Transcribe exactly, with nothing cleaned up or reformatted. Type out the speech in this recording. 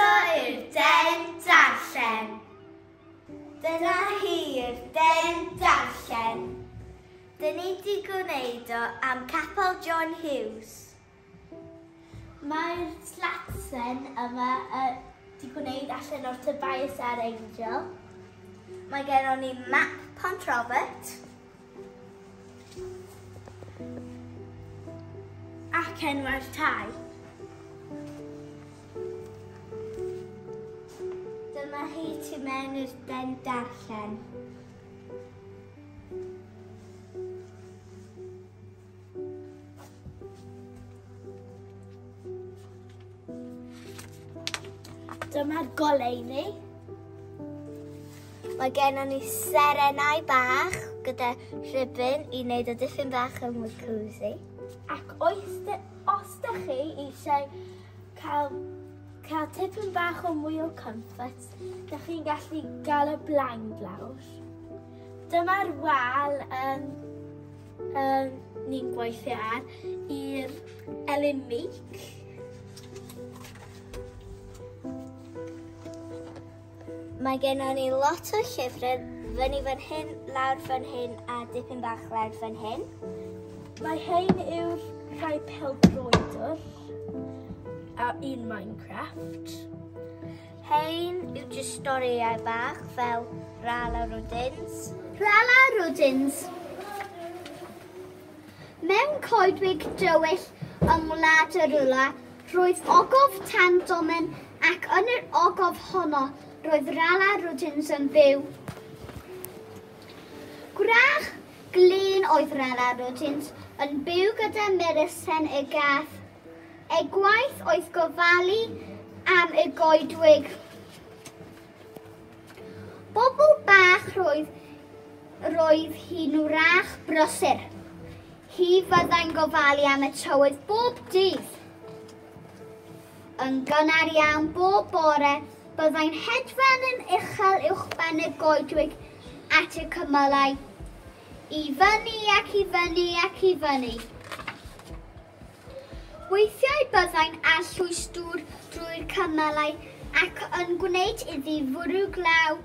Croeso i'r Den Darllen. Dyna hi'r Den Darllen. Dyn ni di gwneud o am Capel John Hughes. Mae'r slatsen yma uh, di gwneud allan o'r Tobias a'r Angel. Mae gennon ni map Pont Robert. Ac enwau'r tai. Dyma hi tu mewn i'r Den Darllen. Dyma'r goleuni. Mae gennon ni serenau bach gyda rhibyn i wneud y dipyn bach yn mwy cosy. Ac oes dy, os dych chi eisiau cael, cael tipyn bach o mwy o comfort, dych chi'n gallu gael y blind lawr. Dyma'r wal um, um, ni'n gweithio ar i'r Elin Meek. Mae gennon ni lot o llyfrau fyny fan hyn, lawr fan hyn a dipyn bach lawr fan hyn. Mae hein yw'r rhai pêl-droedwr a un Minecraft. Hein yw jyst storïau bach fel Rala Rwdins. Rala Rwdins. Mewn coedwig dywyll yng Ngwlad y Rwla, roedd ogof tan domen ac yn yr ogof honno roedd Rala Rwdins yn byw. Gwrach glên oedd Rala Rwdins yn byw gyda Murisen y gath. Ei gwaith oedd gofalu am y goedwig. Bobl bach roedd, roedd hi'n wrach brysur. Hi fyddai'n gofalu am y tywydd bob dydd. Yn gynnar iawn bob bore, byddai'n hedfan yn uchel uwchben y goedwig at y cymylau. I fyny ac i fyny ac i fyny. Weithiau byddai'n arllwys dŵr drwy'r cymylau ac yn gwneud iddi fwrw glaw.